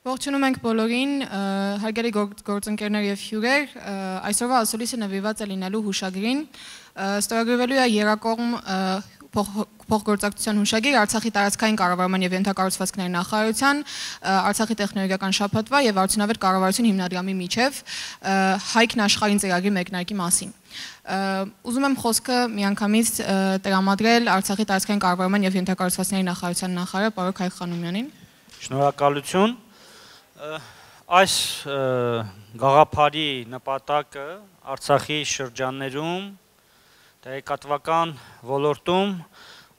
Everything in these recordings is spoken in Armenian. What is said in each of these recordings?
Ողջունում ենք բոլորին, հարգելի գործընկերներ եւ հյուրեր, այսօրվա ասուլիսը նվիրված է լինելու հուշագրին, ստորագրվելու է երկկողմ փոխգործակցության հուշագիր Արցախի տարածքային կառավարման եւ ենթակառուցվածքների նախարարության, Արցախի տեխնոլոգիական շաբաթվա եւ արդյունավետ կառավարություն հիմնադրամի միջև Հայքն աշխարհին ծրագրի մեկնարկի մասին։ Ուզում եմ խոսքը միանգամից տրամադրել Արցախի տարածքային կառավարման եւ ենթակառուցվածքների նախարարության նախարար պարոն Հայկ Խանոմյանին։ Շնորհակալություն։ Այս գաղափարի նպատակը Արցախի շրջաններում տեղեկատվական ոլորտում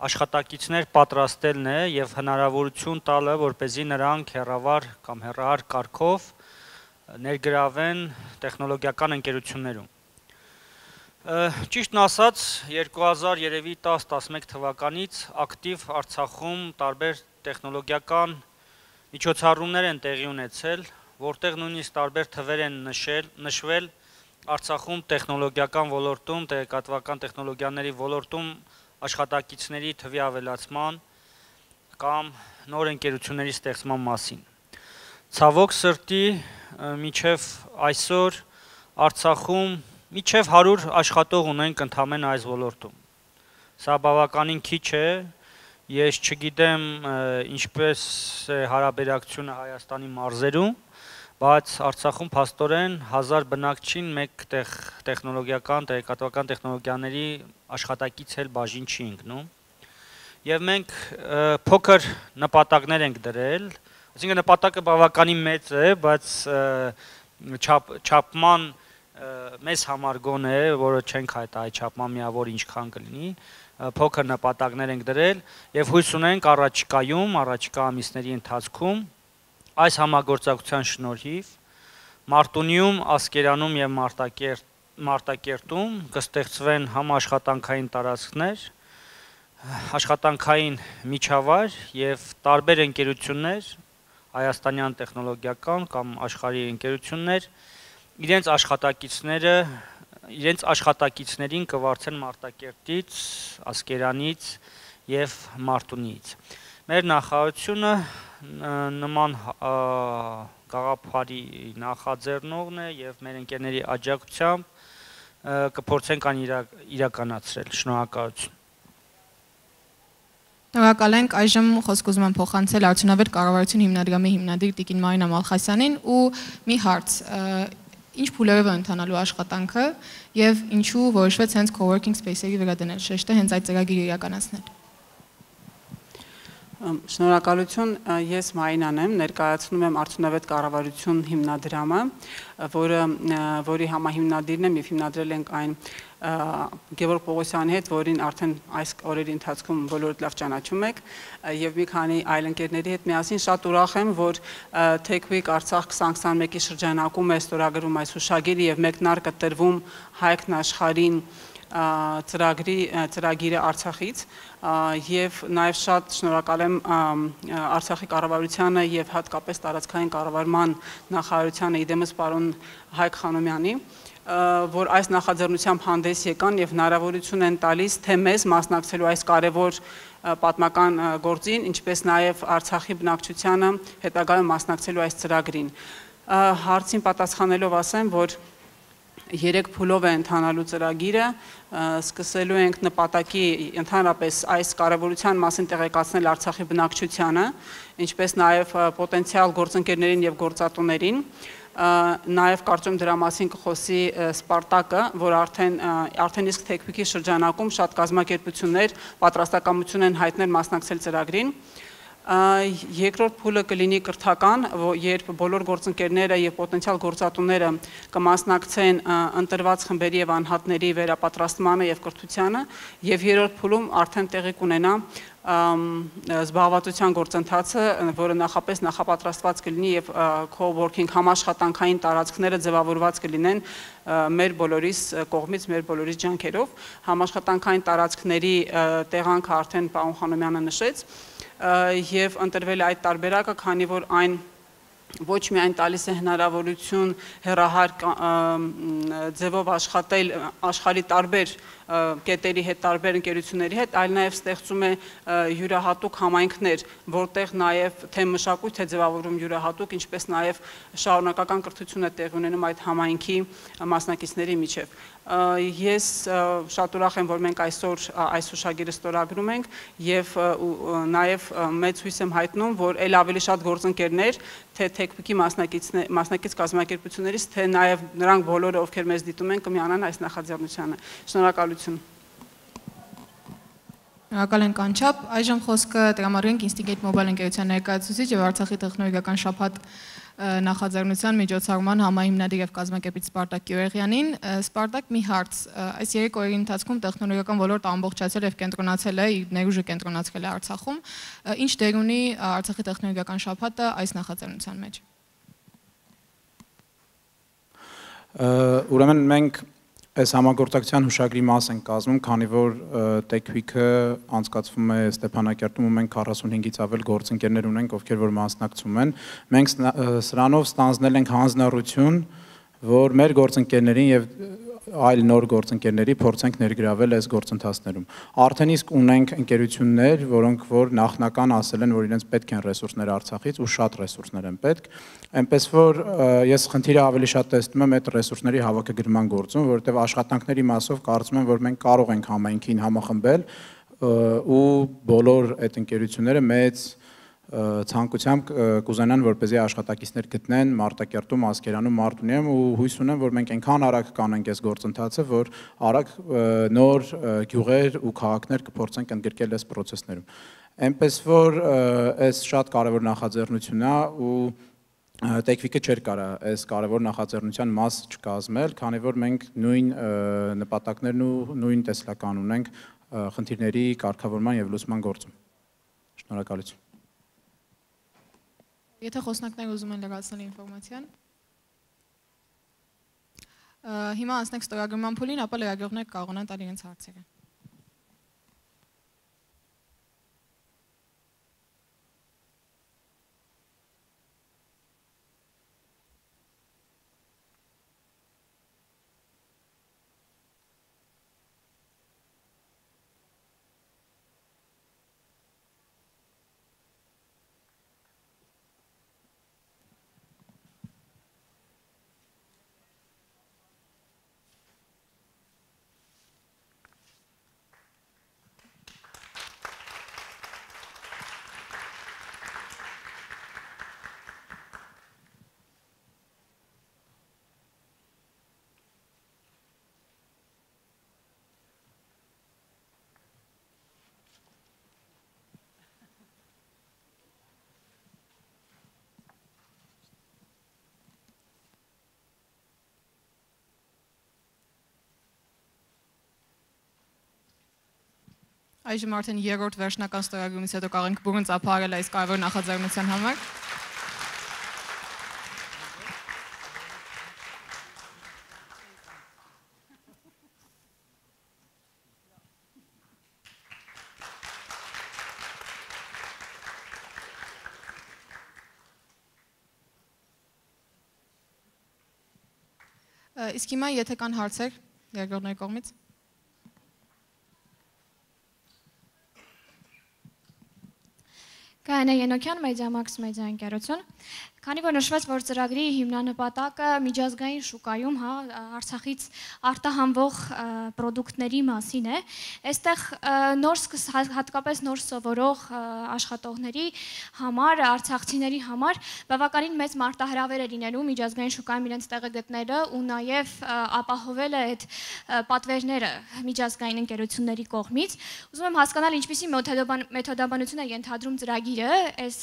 աշխատակիցներ պատրաստելն է եւ հնարավորություն տալը, որպեսզի նրանք հեռավար կամ հեռահար կարգով ներգրավեն տեխնոլոգիական ընկերություններում։ Ճիշտն ասած, 2010-11 թվականից ակտիվ Արցախում տարբեր տեխնոլոգիական միջոցառումներ են տեղի ունեցել, որտեղ նույնիսկ տարբեր թվեր են նշվել Արցախում տեխնոլոգիական ոլորտում, տեղեկատվական տեխնոլոգիաների ոլորտում աշխատակիցների թվի ավելացման կամ նոր ընկերությունների ստեղծման մասին։ Ցավոք սրտի, մինչև այսօր Արցախում մինչև 100 աշխատող ունենք ընդամենը այս ոլորտում։ Սա բավականին քիչ է, ես չգիտեմ ինչպես է հարաբերակցությունը Հայաստանի մարզերում, բայց Արցախում փաստորեն 1000 բնակչին մեկ տեխնոլոգիական, տեղեկատվական տեխնոլոգիաների աշխատակից էլ բաժին չի ընկնում։ Եվ մենք փոքր նպատակներ ենք դրել, այսինքն նպատակը բավականին մեծ է, բայց չափման մեզ համար գոնե, որը չենք հայտարարել չափման միավոր ինչքան կլինի, փոքր նպատակներ ենք դրել եւ հույս ունենք առաջիկա ամիսների ընթացքում այս համագործակցության շնորհիվ Մարտունիում, Ասկերանում եւ Մարտակերտում կստեղծվեն համաշխատանքային տարածքներ, աշխատանքային միջավայր եւ տարբեր ընկերություններ, հայաստանյան տեխնոլոգիական կամ աշխարհի ընկերություններ իրենց աշխատակիցներին կվարձեն Մարտակերտից, Ասկերանից եւ Մարտունիից։ Մեր նախարարությունը նման գաղափարի նախաձեռնողն է եւ մեր ընկերների աջակցությամբ կփորձենք ան իրականացրել։ Շնորհակալություն։ Շնորհակալ ենք, այժմ խոսք ուզում եմ փոխանցել արդյունավետ կառավարություն հիմնադրամի հիմնադիր Տիկին Մարինա Մալխասյանին ու մի հարց. Ինչ փուլերով է ընթանալու աշխատանքը եւ ինչու որոշվեց հենց coworking space-երի վրա դնել շեշտը հենց այդ ծրագիրը իրականացնել։ Շնորհակալություն, ես Մարինան եմ, ներկայացնում եմ արդյունավետ կառավարություն հիմնադրամը, որի համահիմնադիրն եմ եւ հիմնադրել ենք այն Գևորգ Պողոսյանի հետ, որին արդեն այս օրերի ընթացքում բոլորդ լավ ճանաչում եք, եւ մի քանի այլ ընկերների հետ միասին շատ ուրախ եմ, որ Tech Week Արցախ 2021-ի շրջանակում է ստորագրվում այս հուշագիրը եւ մեկնարկը տրվում Հայքն աշխարհին ծրագիրը Արցախից եւ նաեւ շատ շնորհակալ եմ Արցախի կառավարությանը եւ հատկապես տարածքային կառավարման նախարարությանը իդեմս պարոն Հայկ Խանոմյանի, որ այս նախաձեռնությամբ հանդես եկան եւ հնարավորություն են տալիս թե մեզ մասնակցելու այս կարևոր պատմական գործին, ինչպես նաեւ Արցախի բնակչությանը հետագայում մասնակցելու այս ծրագրին։ Հարցին պատասխանելով ասեմ, որ 3 փուլով է ընթանալու ծրագիրը, սկսելու ենք նպատակի ընդհանրապես այս կարևորության մասին տեղեկացնել Արցախի բնակչությանը, ինչպես նաև պոտենցիալ գործընկերներին եւ գործատուներին, նաև կարծում դրա մասին կխոսի Սպարտակը, որ արդեն իսկ Tech Week-ի շրջանակում շատ կազմակերպություններ պատրաստակամություն են հայտնել մասնակցել ծրագրին։ Երկրորդ փուլը կլինի կրթական, երբ բոլոր գործընկերները եւ պոտենցիալ գործատուները կմասնակցեն ընտրված խմբերի եւ անհատների վերապատրաստմանը եւ կրթությանը, եւ երրորդ փուլում արդեն տեղի կունենա զբաղվածության գործընթացը, որը նախապատրաստված կլինի եւ co-working համաշխատանքային տարածքները ձևավորված կլինեն մեր բոլորիս կողմից, մեր բոլորիս ջանքերով։ Համաշխատանքային տարածքների տեղանքը արդեն պարոն Խանոմյանը նշեց եւ ընտրվել այդ տարբերակը, քանի որ այն ոչ միայն տալիս է հնարավորություն հեռահար ձևով աշխատել աշխարհի տարբեր կետերի հետ, տարբեր ընկերությունների հետ, այլ նաև ստեղծում է յուրահատուկ համայնքներ, որտեղ նաև թե մշակույթ է ձևավորում յուրահատուկ, ինչպես նաև շարունակական կրթություն է տեղի ունենում այդ համայնքի մասնակիցների միջև։ Ես շատ ուրախ եմ, որ մենք այսօր այս հուշագիրը ստորագրում ենք եւ նաեւ մեծ հույս եմ հայտնում, որ ել ավելի շատ գործընկերներ, թե TechPeak-ի մասնակից կազմակերպություններից, թե նաեւ նրանք բոլորը, ովքեր մեզ դիտում են, կմիանան այս նախաձեռնությանը։ Շնորհակալություն։ Շնորհակալ ենք անչափ։ Այժմ խոսքը տրամադրենք Instigate Mobile ընկերության ներկայացուցիչ եւ Արցախի տեխնոլոգիական շաբաթ նախաձեռնության միջոցառման համահիմնադիր եւ կազմակերպիչ Սպարտակ Գյուղեղյանին։ Սպարտակ, մի հարց, այս 3 օրերի ընթացքում տեխնոլոգիական ոլորտը ամբողջացել եւ կենտրոնացել է, ներուժը կենտրոնացել է Արցախում։ Ինչ դեր ունի Արցախի տեխնոլոգիական շաբաթը այս նախաձեռնության մեջ։ Ուրեմն մենք այս համագործակցության հուշագրի մաս ենք կազմում, քանի որ TechPeak-ը անցկացվում է Ստեփանակերտում ու մենք 45-ից ավել գործընկերներ ունենք, ովքեր որ մասնակցում են։ Մենք սրանով ստանձնել ենք հանձնառություն, որ մեր գործընկերներին եւ այլ նոր գործընկերների փորձենք ներգրավել այս գործընթացներում։ Արդեն իսկ ունենք ընկերություններ, որոնք որ նախնական ասել են, որ իրենց պետք են ռեսուրսներ Արցախից ու շատ ռեսուրսներ են պետք, այնպես որ ես խնդիրը ավելի շատ տեսնում եմ այդ ռեսուրսների հավաքագրման գործում, որովհետև աշխատանքների մասով կարծում եմ, որ մենք կարող ենք համայնքին համախմբել ու բոլոր այդ ընկերությունները մեծ ցանկությամբ կուզենան, որպեսզի աշխատակիցներ գտնեն Մարտակերտում, Ասկերանում, Մարտունիում ու հույս ունեմ, որ մենք այնքան արագ կանենք այս գործընթացը, որ արագ նոր գյուղեր ու քաղաքներ կփորձենք ընդգրկել այս process-ներում։ Այնպես որ այս շատ կարևոր նախաձեռնություն է ու TechPeak-ը չէր կարա այս կարևոր նախաձեռնության մաս չկազմել, քանի որ մենք նույն նպատակներն ու նույն տեսլական ունենք խնդիրների կարգավորման եւ լուծման գործում։ Շնորհակալություն։ Եթե խոսնակները ուզում են լրացնել ինֆորմացիան։ Հիմա անցնենք ստորագրման փուլին, ապա լրագրողները կարողանան տալ իրենց հարցերը։ Այժմ արդեն երրորդ վերջնական ստորագրումից հետո կարող ենք բուրըն ծափահարել այս կարևոր նախաձեռնության համար։ Իսկ հիմա եթե կան հարցեր լրագրողների կողմից։ Գայանե Ենոքյան, Մեդիամաքս մեդիա ընկերություն։ Քանի որ նշվեց, որ ծրագրի հիմնանպատակը միջազգային շուկայում Արցախից արտահանվող պրոդուկտների մասին է, այստեղ հատկապես նոր սովորող աշխատողների համար, արցախցիների համար բավականին մեծ մարտահրավեր է լինելու միջազգային շուկայում իրենց տեղը գտնելը ու նաև ապահովելը այդ պատվերները միջազգային ընկերությունների կողմից։ Ուզում եմ հասկանալ ինչպիսի մեթոդաբանություն է ենթադրում ծրագիրը այս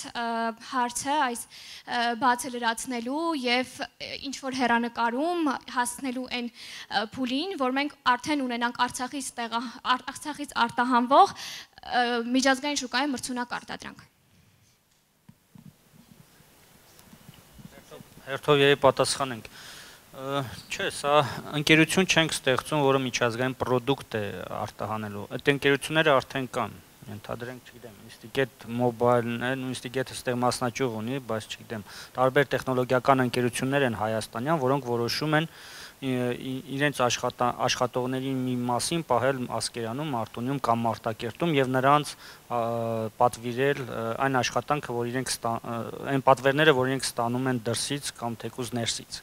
հարցը, այս բացը լրացնելու եւ ինչ որ հերանեկարում հասնելու այն փուլին, որ մենք արդեն ունենանք Արցախից արտահանվող միջազգային շուկայում մրցունակ արտադրանք։ Հերթով եւի պատասխանենք։ Չէ, սա ընկերություն չենք ստեղծում, որը միջազգային պրոդուկտ է արտահանելու։ Այդ ընկերությունները արդեն կան։ Ենթադրենք, չգիտեմ, Instigate Mobile-ն է, Instigate-ը այստեղ մասնաճյուղ ունի, բայց չգիտեմ, տարբեր տեխնոլոգիական ընկերություններ են հայաստանյան, որոնք որոշում են իրենց աշխատողների մի մասին պահել Ասկերանում, Արտոնիում կամ Մարտակերտում եւ նրանց պատվիրել այն աշխատանքը, որ իրենք այն պատվերները, որ իրենք ստանում են դրսից կամ թեկուզ ներսից։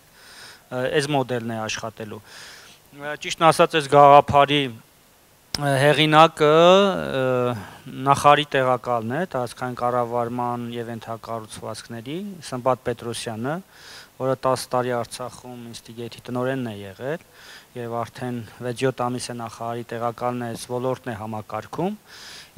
Այս մոդելն է աշխատելու։ Ճիշտն ասած, այս գաղափարի հեղինակը նախարարի տեղակալն է տարածքային կառավարման եւ ենթակառուցվածքների Սմբատ Պետրոսյանը, որը 10 տարի Արցախում Instigate-ի տնօրենն է եղել եւ արդեն 6-7 ամիս է նախարարի տեղակալն է, այս ոլորտն է համակարգում։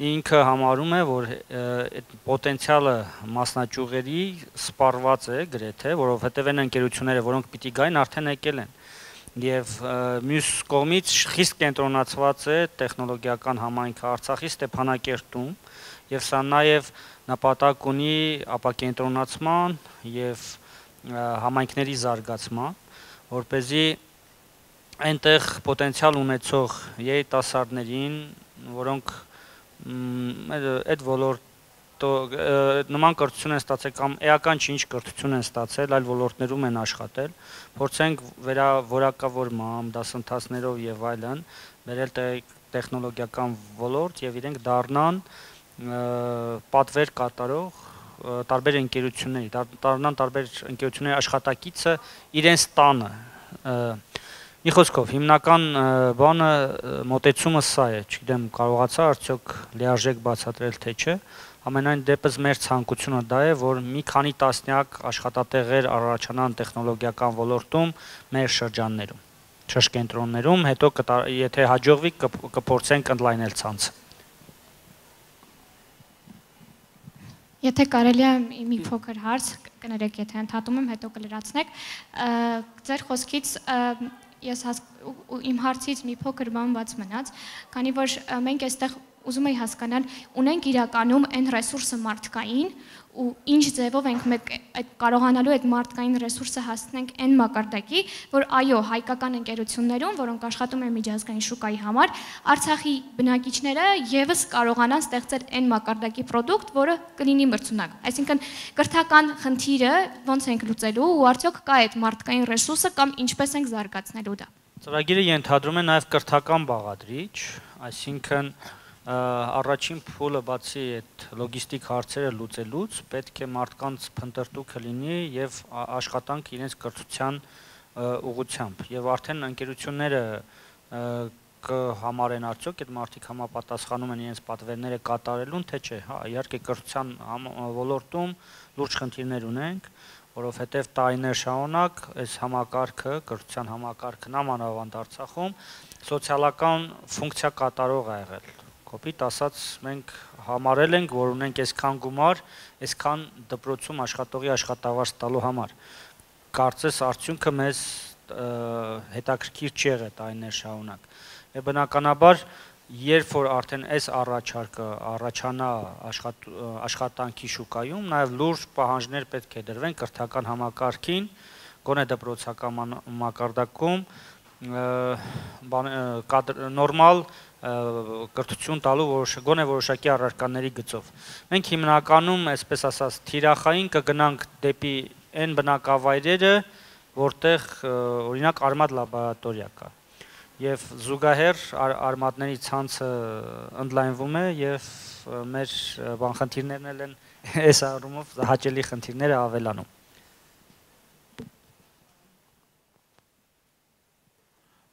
Ինքը համարում է, որ այդ պոտենցիալը մասնաճյուղերի սպառված է գրեթե, որովհետեւ այն ընկերությունները, որոնք պիտի գային, արդեն եկել են։ Եվ մյուս կողմից խիստ կենտրոնացված է տեխնոլոգիական համայնքը Արցախի Ստեփանակերտում, եւ սա նաեւ նպատակ ունի ապակենտրոնացման եւ համայնքների զարգացման, որպեսզի այնտեղ պոտենցիալ ունեցող երիտասարդներին, որոնք այդ ոլորտ նման կրթություն են ստացել կամ էական ինչ կրթություն են ստացել, այլ ոլորտներում են աշխատել, փորձենք որակավորմամբ, դասընթացներով եւ այլն, բերել տեխնոլոգիական ոլորտ եւ իրենք դառնան պատվեր կատարող տարբեր ընկերությունների, դառնան տարբեր ընկերությունների աշխատակիցը իրենց տանը։ Մի խոսքով, հիմնական բանը մոտեցումը սա է, չգիտեմ, կարողացա արդյոք լիարժեք բացատրել թե չէ։ Ամենայն դեպս մեր ցանկությունը դա է, որ մի քանի տասնյակ աշխատատեղեր առաջանան տեխնոլոգիական ոլորտում մեր շրջաններում, շրջկենտրոններում, հետո եթե հաջողվի կփորձենք ընդլայնել ցանցը։ Եթե կարելի է մի փոքր հարց կներեք, եթե ընդհատում եմ, հետո կլրացնեք, ձեր խոսքից ես իմ հարցից մի փոքր բան բաց մնաց, քանի որ մենք այստեղ ուզում էի հասկանալ, ունենք իրականում այն ռեսուրսը մարդկային ու ինչ ձևով ենք կարողանալու այդ մարդկային ռեսուրսը հասցնենք այն մակարդակի, որ այո, հայկական ընկերություններում, որոնք աշխատում են միջազգային շուկայի համար, Արցախի բնակիչները եւս կարողանան ստեղծել այն մակարդակի product, որը կլինի մրցունակ։ Այսինքն կրթական խնդիրը ոնց ենք լուծելու ու արդյոք կա այդ մարդկային ռեսուրսը կամ ինչպես ենք զարգացնելու դա։ Ծրագիրը ենթադրում է նաեւ կրթական բաղադրիչ, այսինքն առաջին փուլը բացի այդ լոգիստիկ հարցերը լուծելուց պետք է մարդկանց փնտրտուքը լինի եւ աշխատանք իրենց կրթության ուղղությամբ եւ արդեն ընկերությունները կհամարեն արդյոք այդ մարդիկ համապատասխանում են իրենց պատվերները կատարելուն թե չէ, հա, իհարկե կրթության ոլորտում լուրջ խնդիրներ ունենք, որովհետեւ տարիներ շարունակ այս համակարգը, կրթության համակարգն ամանավանդ Արցախում սոցիալական ֆունկցիա կատարող է եղել։ Կոպիտ ասած, մենք համարել ենք, որ ունենք այսքան գումար, այսքան դպրոցում աշխատողի աշխատավարձ տալու համար։ Կարծես արդյունքը մեզ հետաքրքիր չի եղել տարիներ շարունակ։ Եվ բնականաբար, երբ որ արդեն այս առաջարկը առաջանա աշխատանքի շուկայում, նաև լուրջ պահանջներ պետք է դրվեն կրթական համակարգին, գոնե դպրոցական մակարդակում, նորմալ կրթություն տալու գոնե որոշակի առարկաների գծով։ Մենք հիմնականում, այսպես ասած, թիրախային կգնանք դեպի այն բնակավայրերը, որտեղ օրինակ արմատ լաբորատորիա կա։ Եվ զուգահեռ արմատների ցանցը ընդլայնվում է եւ մեր բանխնդիրներն էլ են այս առումով հաճելի խնդիրները ավելանում։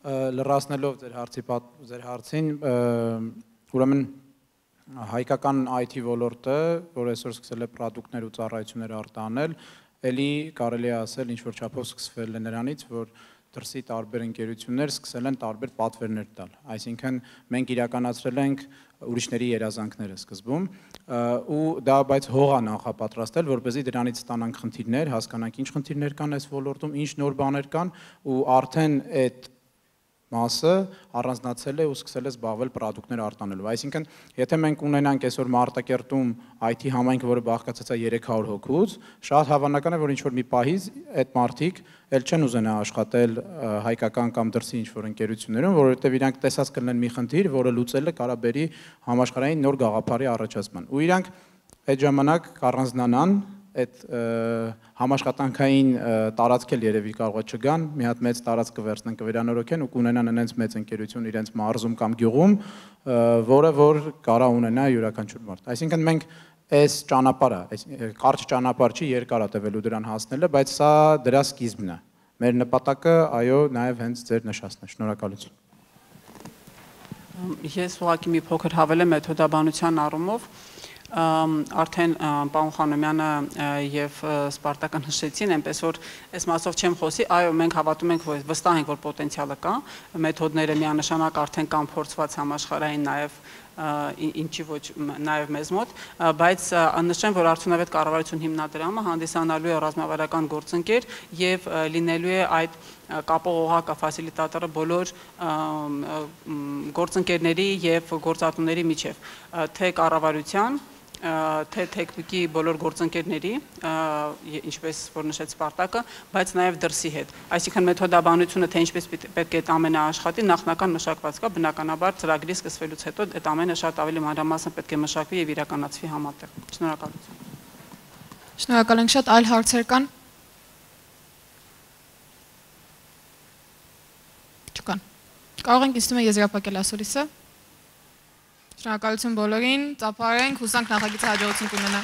Լրացնելով ձեր հարցին, ուրեմն հայկական IT ոլորտը, որ այսօր սկսել է պրոդուկտներ ու ծառայություններ արտահանել, ելի կարելի է ասել ինչ-որ չափով սկսվել է նրանից, որ դրսի տարբեր ընկերություններ սկսել են տարբեր պատվերներ տալ։ Այսինքն մենք իրականացրել ենք ուրիշների երազանքները սկզբում ու դա բայց հող է նախապատրաստել, որպեսզի դրանից ստանանք խնդիրներ, հասկանանք ինչ խնդիրներ կան այս ոլորտում, ինչ նոր բաներ կան ու արդեն այդ մասը առանձնացել է ու սկսել է զբաղվել պրոդուկտներ արտանելով։ Այսինքն, եթե մենք ունենանք այսօր Մարտակերտում IT համայնք, որը բաղկացած է 300 հոգուց, շատ հավանական է, որ ինչ-որ մի պահից այդ մարդիկ էլ չեն ուզենա աշխատել հայկական կամ դրսի ինչ-որ ընկերություններում, որովհետև իրանք տեսած կլինեն մի խնդիր, որը լուծելը կարա բերի համաշխարհային նոր գաղափարի առաջացման։ Ու իրանք այդ ժամանակ կառանձնանան այդ համաշխատանքային տարածք էլ երևի կարող է չգան, մի հատ մեծ տարածք կվերցնեն, կվերանորոգեն ու կունենան այնց մեծ ընկերություն իրենց մարզում կամ գյուղում, որը որ կարա ունենա յուրաքանչյուր մարդ։ Այսինքն մենք այս ճանապարհը, այս կարճ ճանապարհ չի, երկար է տևելու դրան հասնելը, բայց սա դրա սկիզբն է։ Մեր նպատակը, այո, նաև հենց ձեր նշածն է։ Շնորհակալություն։ Ես ուղղակի մի փոքր հավելեմ մեթոդաբանության առումով արդեն պարոն Խանոմյանը եւ Սպարտակը նշեցին, այնպես որ այս մասով չեմ խոսի, այո, մենք հավատում ենք, որ վստահ ենք, որ պոտենցիալը կա, մեթոդները միանշանակ արդեն կան փորձված համաշխարհային նաեւ ինչի ոչ նաև մեզ մոտ, բայց նշեմ, որ արդյունավետ կառավարություն հիմնադրամը հանդիսանալու է ռազմավարական գործընկեր եւ լինելու է այդ կապող օղակը ֆասիլիտատորը բոլոր գործընկերների եւ գործատուների միջև, թե կառավարության, թե թեքնիկի բոլոր գործընկերների, ինչպես որ նշեց Սպարտակը, բայց նաև դրսի հետ։ Այսինքն մեթոդաբանությունը թե ինչպես պետք է այդ ամենը աշխատի, նախնական մշակված կա, բնականաբար ծրագրի սկսվելուց հետո այդ ամենը շատ ավելի մանրամասն պետք է մշակվի եւ իրականացվի համատեղ։ Շնորհակալություն։ Շնորհակալ ենք շատ, այլ հարցեր կան։ Չկան։ Կարող ենք իստում եզրափակել ասորիսը։ Շնորհակալություն բոլորին, ծափարենք, հուսանք նախագիծը հաջողություն կունենա։